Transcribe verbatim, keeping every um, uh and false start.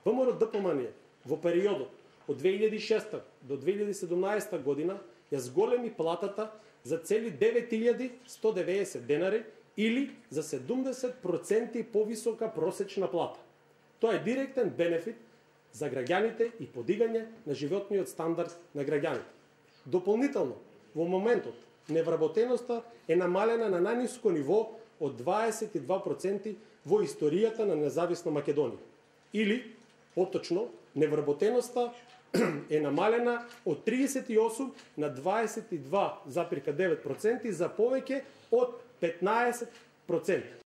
ВМРО-ДПМН во периодот од две илјади и шеста до две илјади и седумнаесета година ја зголеми платата за цели девет илјади сто деветдесет денари или за седумдесет проценти повисока просечна плата. Тоа е директен бенефит за граѓаните и подигање на животниот стандард на граѓаните. Дополнително, во моментот, невработеноста е намалена на најниско ниво од дваесет и два проценти во историјата на независна Македонија. Или, поточно, невработеноста е намалена од триесет и осум на дваесет и два зарез девет проценти за повеќе од петнаесет проценти.